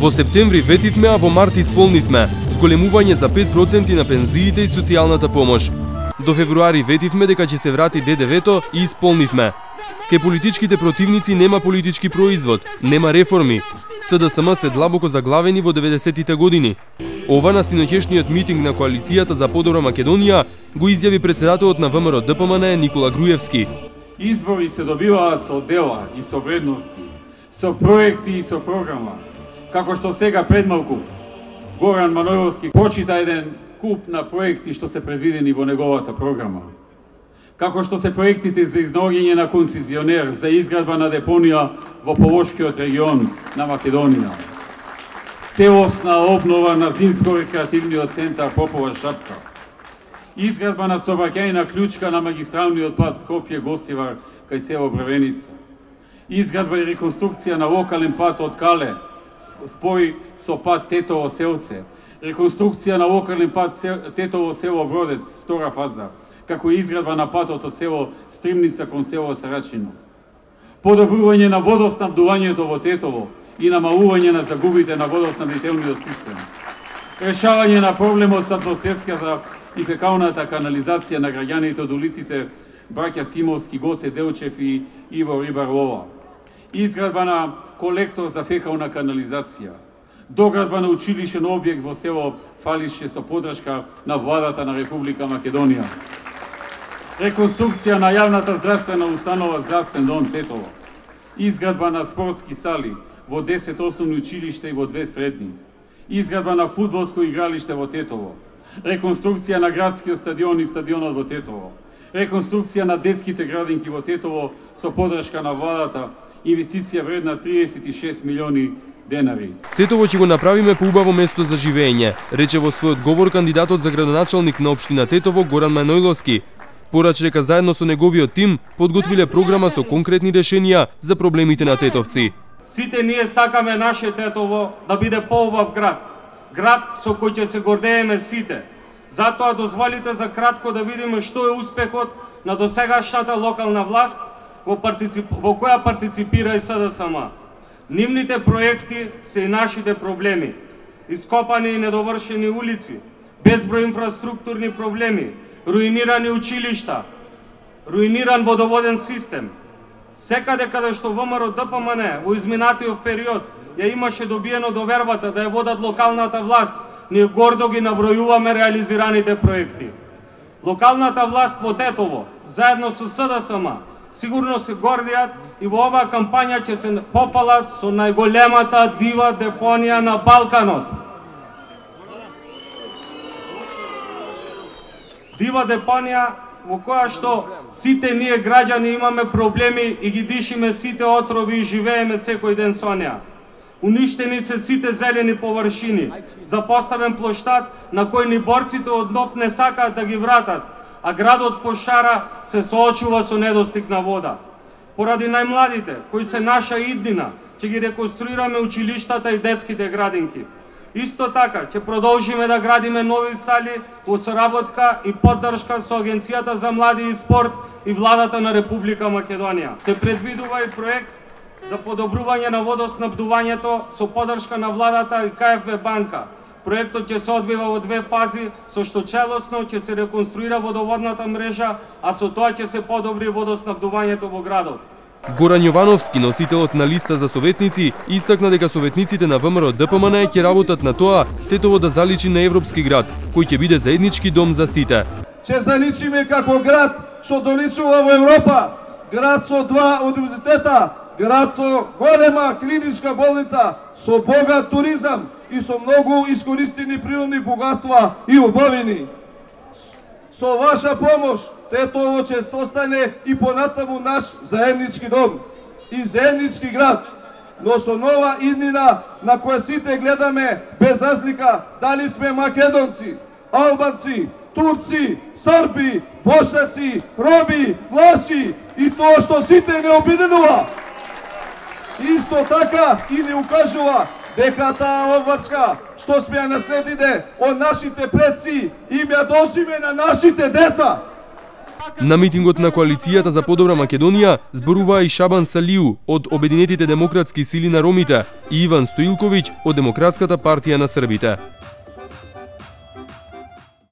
Во септември ветивме, а во март исполнивме зголемување за 5% на пензиите и социјалната помош. До февруари ветивме дека ќе се врати ДДВ-то и исполнивме. Ке политичките противници нема политички производ, нема реформи. СДСМ се длабоко заглавени во 90-тите години. Ова на синоќешниот митинг на коалицијата за подобра Македонија го изјави председателот на ВМРО ДПМН Никола Груевски. Избори се добиваат со дела и со вредности, со проекти и со програма. Како што сега пред малку Горан Манојловски прочита еден куп на проекти што се предвидени во неговата програма. Како што се проектите за изнаоѓање на концесионер за изградба на депонија во Полошкиот регион на Македонија. Целосна обнова на зимско-рекреативниот центар Попова шапка. Изградба на сообраќајна клучка на магистралниот пат Скопје-Гостивар кај село Бравеница. Изградба и реконструкција на локален пат од Кале, спој со пат Тетово селце. Реконструкција на локален пат Тетово село Бродец, втора фаза, како и изградба на патот од село Стримница кон село Сарачино. Подобрување на водоснабдувањето во Тетово и намалување на загубите на водоснабдителниот систем. Решавање на проблемот со атмосферската и фекалната канализација на граѓаните од улиците браќа Симовски, Гоце Делчев и Иво Рибар-Лова. Изградба на колектор за фекална канализација. Доградба на училишен објект во село Фалише со подршка на владата на Република Македонија. Реконструкција на јавната здравствена установа Здравствен дом Тетово. Изградба на спортски сали во 10 основни училишта и во 2 средни. Изградба на фудбалско игралиште во Тетово. Реконструкција на градскиот стадион и стадионот во Тетово. Реконструкција на детските градинки во Тетово со подршка на владата, инвестиција вредна 36 милиони денари. Тетово ќе го направиме поубаво место за живење, рече во својот говор кандидатот за градоначалник на општина Тетово Горан Манојловски. Пораче дека заедно со неговиот тим подготвиле програма со конкретни решенија за проблемите на тетовци. Сите ние сакаме наше Тетово да биде поубав град. Град со кој ќе се гордееме сите. Затоа дозволите за кратко да видиме што е успехот на досегашната локална власт во која партиципира и СДСМ. Нивните проекти се и нашите проблеми. Ископани и недовршени улици, безброј инфраструктурни проблеми, руинирани училишта, руиниран водоводен систем. Секаде каде што ВМРО ДПМН во изминатиот период ја имаше добиено довербата да ја водат локалната власт, ние гордо ги набројуваме реализираните проекти. Локалната власт во Тетово, заедно со СДСМ, сигурно се гордијат и во оваа кампања ќе се пофалат со најголемата дива депонија на Балканот. Дива депонија во која што сите ние граѓани имаме проблеми и ги дишиме сите отрови и живееме секој ден со неа. Уништени се сите зелени површини, запоставен плоштад на кој ни борците од НОП не сакаат да ги вратат, а градот Пошара се соочува со недостиг на вода. Поради најмладите, кои се наша иднина, ќе ги реконструираме училиштата и детските градинки. Исто така, ќе продолжиме да градиме нови сали во соработка и поддршка со Агенцијата за млади и спорт и владата на Република Македонија. Се предвидува и проект за подобрување на водоснабдувањето со поддршка на владата и КФВ банка. Проектот ќе се одвива во 2 фази, со што целосно ќе се реконструира водоводната мрежа, а со тоа ќе се подобри водоснабдувањето во градот. Горан Јовановски, носителот на листа за советници, истакна дека советниците на ВМРО ДПМН ќе работат на тоа Тетово да заличи на европски град, кој ќе биде заеднички дом за сите. Ќе заличиме како град што доличува во Европа, град со 2 универзитета, град со голема клиничка болница, со богат туризам и со многу искористени природни богатства и убавини. Со ваша помош, Тетово ќе остане и понатаму наш заеднички дом и заеднички град, но со нова иднина на која сите гледаме без разлика дали сме македонци, албанци, турци, срби, бошнаци, роми, влаши и тоа што сите не обиденува. Исто така и не укажува дека таа обврска што сме ја наследиле од нашите предци им ја дожиме на нашите деца. На митингот на коалицијата за подобра Македонија зборуваа и Шабан Салиу од Обединетите демократски сили на ромите и Иван Стоилковиќ од Демократската партија на србите.